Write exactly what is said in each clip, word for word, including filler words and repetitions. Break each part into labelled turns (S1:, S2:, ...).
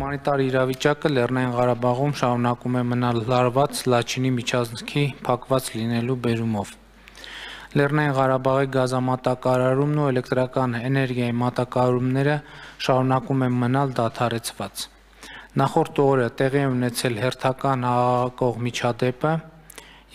S1: Հումանիտար իրավիճակը Լեռնային Ղարաբաղում շարունակում է մնալ լարված Լաչինի միջանցքի փակված լինելու բերումով։ Լեռնային Ղարաբաղի գազամատակարարումն ու էլեկտրական էներգիայի մատակարարումները շարունակում են մնալ դադարեցված։ Նախորդ օրը տեղի է ունեցել հերթական աղաղակող միջադեպը,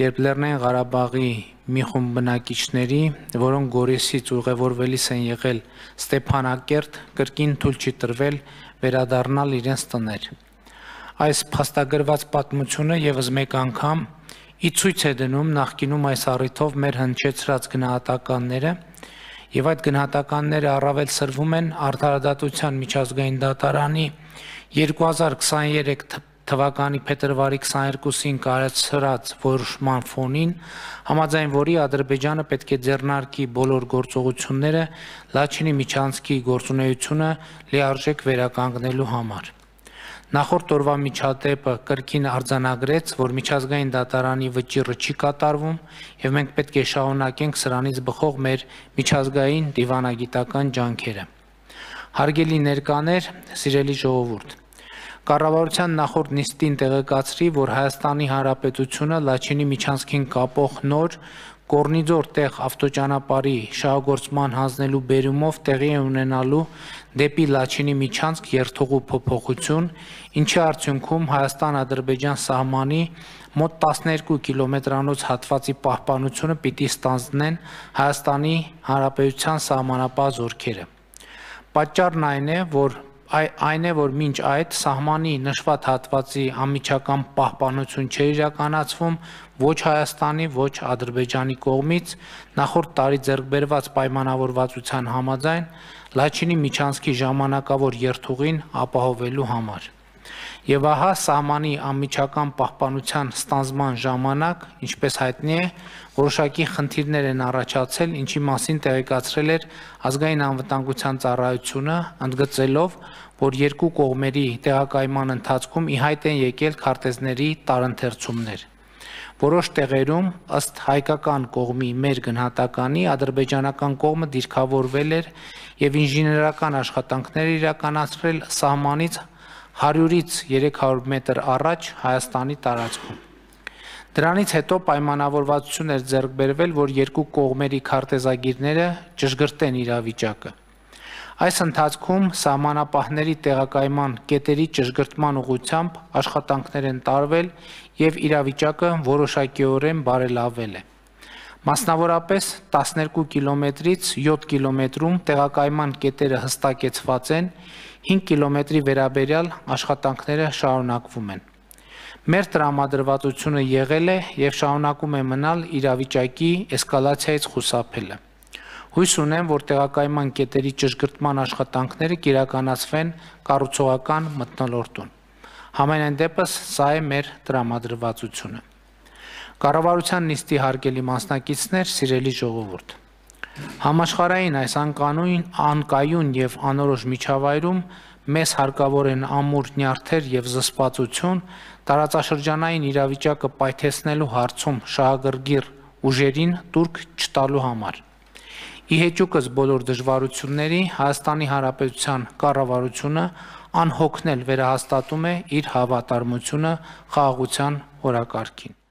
S1: երբ Լեռնային Ղարաբաղի մի խումբ բնակիչների, որոնք Գորիսից ուղևորվելիս են եղել Ստեփանակերտ, կրկին թույլ չի տրվել վերադառնալ իրենց տներ։ Այս փաստագրված պատմությունը ևս մեկ անգամ ի ցույց է դնում նախկինում այս առիթով մեր հնչեցրած գնահատականները, եւ այդ գնահատականները առավել սրվում են Արդարադատության միջազգային դատարանի երկու հազար քսաներեք թվականի փետրվարի քսաներկուսին կայացրած որոշման ֆոնին, համաձայն որի Ադրբեջանը պետք է ձեռնարկի բոլոր գործողությունները Լաչինի միջանցքի գործունեությունը լիարժեք վերականգնելու համար։ Նախորդ օրվա միջադեպը կրկին արձանագրեց, որ միջազգային դատարանի վճիռը չի կատարվում, եւ մենք պետք է շարունակենք սրանից բխող մեր միջազգային դիվանագիտական ջանքերը։ Հարգելի ներկաներ, սիրելի ժողովուրդ, Կառավարության նախորդ նիստին տեղեկացրի, որ Հայաստանի Հանրապետությունը Լաչինի միջանցքին կապող նոր Կորնիձոր տեղ ավտոճանապարհի շահագործման հանձնելու բերումով տեղի է ունենալու դեպի Լաչինի միջանցք երթուղու փոփոխություն, ինչի արդյունքում Հայաստան-Ադրբեջան սահմանի մոտ տասներկու կիլոմետրանոց հատվածի պահպանությունը պիտի ստանձնեն Հայաստանի Հանրապետության սահմանապահ զորքերը։ Պատճառն այն է, որ Այն է, որ մինչ այդ սահմանի նշված հատվածի անմիջական պահպանություն չէր իրականացվում ոչ Հայաստանի, ոչ Ադրբեջանի կողմից նախորդ տարի ձեռք բերված պայմանավորվածության համաձայն Լաչինի միջանցքի ժամանակավոր երթուղին ապահովելու համար։ Եվ ահա սահմանի անմիջական պահպանության ստանձնման ժամանակ, ինչպես հայտնի է, որոշակի խնդիրներ են առաջացել, ինչի մասին տեղեկացրել էր Ազգային անվտանգության ծառայությունը, ընդգծելով, որ երկու կողմերի տեղակայման ընթացքում ի հայտ են եկել քարտեզների տարընթերցումներ։ Որոշ տեղերում, ըստ հայկական կողմի մեր գնահատականի, ադրբեջանական կողմը դիրքավորվել էր եւ ինժեներական աշխատանքներ իրականացրել սահմանից հարյուրից երեք հարյուր մետր առաջ Հայաստանի տարածքում։ Դրանից հետո պայմանավորվածություն էր ձեռք բերվել, որ երկու կողմերի քարտեզագիրները ճշգրտեն իրավիճակը։ Այս ընթացքում սահմանապահների տեղակայման կետերի ճշգրտման ուղղությամբ աշխատանքներ են տարվել եւ իրավիճակը որոշակիորեն բարելավել է։ Մասնավորապես տասներկու կիլոմետրից յոթ կիլոմետրում տեղակայման կետերը հստակեցված են, հինգ կիլոմետրի վերաբերյալ աշխատանքները շարունակվում են։ Մեր տրամադրվածությունը եղել է եւ շարունակում է մնալ իրավիճակի էսկալացիայից խուսափելը։ Հույս ունեմ, որ տեղակայման կետերի ճշգրտման աշխատանքները կիրականացվեն կառուցողական մթնոլորտում։ Համենայն դեպս սա է մեր տրամադրվածությունը։ Կառավարության նիստի հարգելի մասնակիցներ, սիրելի ժողովուրդ, համաշխարհային այս անկանոն, անկայուն եւ անորոշ միջավայրում մեզ հարկավոր են ամուր նյարդեր եւ զսպվածություն տարածաշրջանային իրավիճակը պայթեցնելու հարցում շահագրգիռ ուժերին տուրք չտալու համար։ Ի հեճուկս բոլոր դժվարությունների Հայաստանի Հանրապետության կառավարությունը անհոգնել վերահաստատում է իր հավատարմությունը խաղաղության օրակարգին։